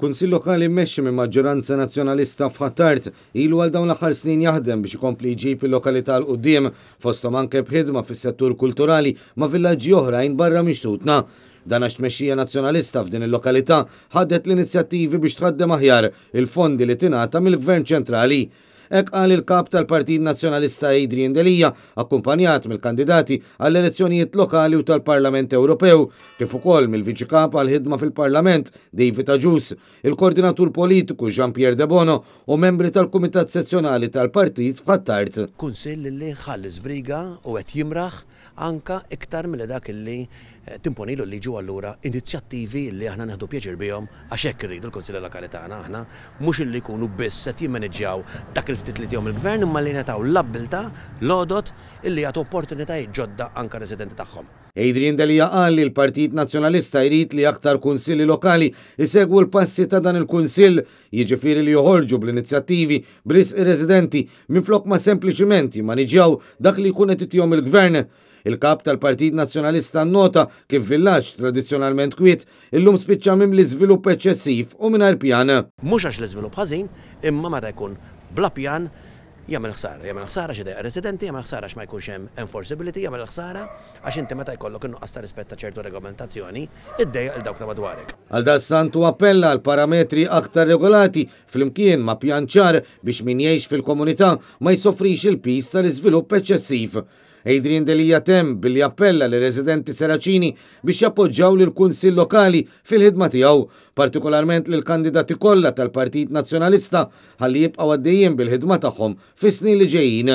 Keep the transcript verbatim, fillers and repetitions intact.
Kunsill Lokali mmexxi minn maġġoranza Nazzjonalista f'Ħ'Attard ilu għal dawn l-aħħar snin jaħdem biex ikompli jġib il-lokalità 'l quddiem, fosthom anke b'ħidma fis-settur kulturali ma' villaġġi oħrajn barra minn xtutna. Dan għax tmexxija Nazzjonalista f'din il-lokalità ħadet l-inizjattivi biex tħaddem aħjar il-fondi li tingħata mill-Gvern Ċentrali. Hekk qal il-kap tal-Partit Nazzjonalista Adrian Delia, akkumpanjat mill-kandidati għall-elezzjonijiet lokali u tal-Parlament Ewropew, kif ukoll mill-Viċi Kap għall-ħidma fil-Parlament David Agius, il-Koordinatur Politiku Jean-Pierre Debono u membri tal-Kumitat Sezzjonali tal-Partit f'Ħ'Attard. Kunsill li ħa l-iżbriga u qed jimraħ anka iktar mill dak li timponilu li ġu, allura inizjattivi li aħna nieħdu pjaċir bihom, għax hekk irridu l-Kunsilli Lokali tagħna aħna, mhux illi jkunu biss qed jimmaneġġjaw dak il-ftit li tihom il-gvern, imma li ngħataw l-abbiltà, l-għodod illi jagħtu opportunitajiet ġodda anka residenti tagħhom. Adrian Delia qal li l-Partit Nazzjonalista jrid li aktar kunsilli lokali isegwu l-passi ta' dan il-kunsill, jiġifieri li joħorġu bl-inizjattivi b'risq ir-residenti minflok ma sempliċiment jimmaniġjaw dak li jkun qed itihom il-gvern. Il-kap tal-Partit Nazzjonalista nota kif villaġġ tradizzjonalment kwiet illum spiċċa mimli żvilupp eċċessiv u mingħajr pjan. Mhux għax l-iżvilupp ħażin, imma meta jkun bla pjan jagħmel ħsara, jagħmel ħsara xi residenti, jagħmel ħsara għax ma jkunx hemm enforceability, jagħmel ħsara għax inti meta jkollok innuqqas ta' rispett ta' ċertu regolamentazzjoni, iddejjaq 'il dawk ta' madwarek. Għaldaqstant hu appella għal parametri aktar regolati flimkien ma' pjan ċar biex min jgħix fil-komunità ma jsofrix il-piż tal-iżvilupp eċċessiv. Adrian Delia temm billi appella lir-residenti Seraċini biex jappoġġjaw lil kunsill lokali fil-ħidma tiegħu, partikolarment lil kandidati kollha tal-Partit Nazzjonalista, ħalli jibqgħu għaddejjin bil-ħidma tagħhom fis-snin li ġejjin.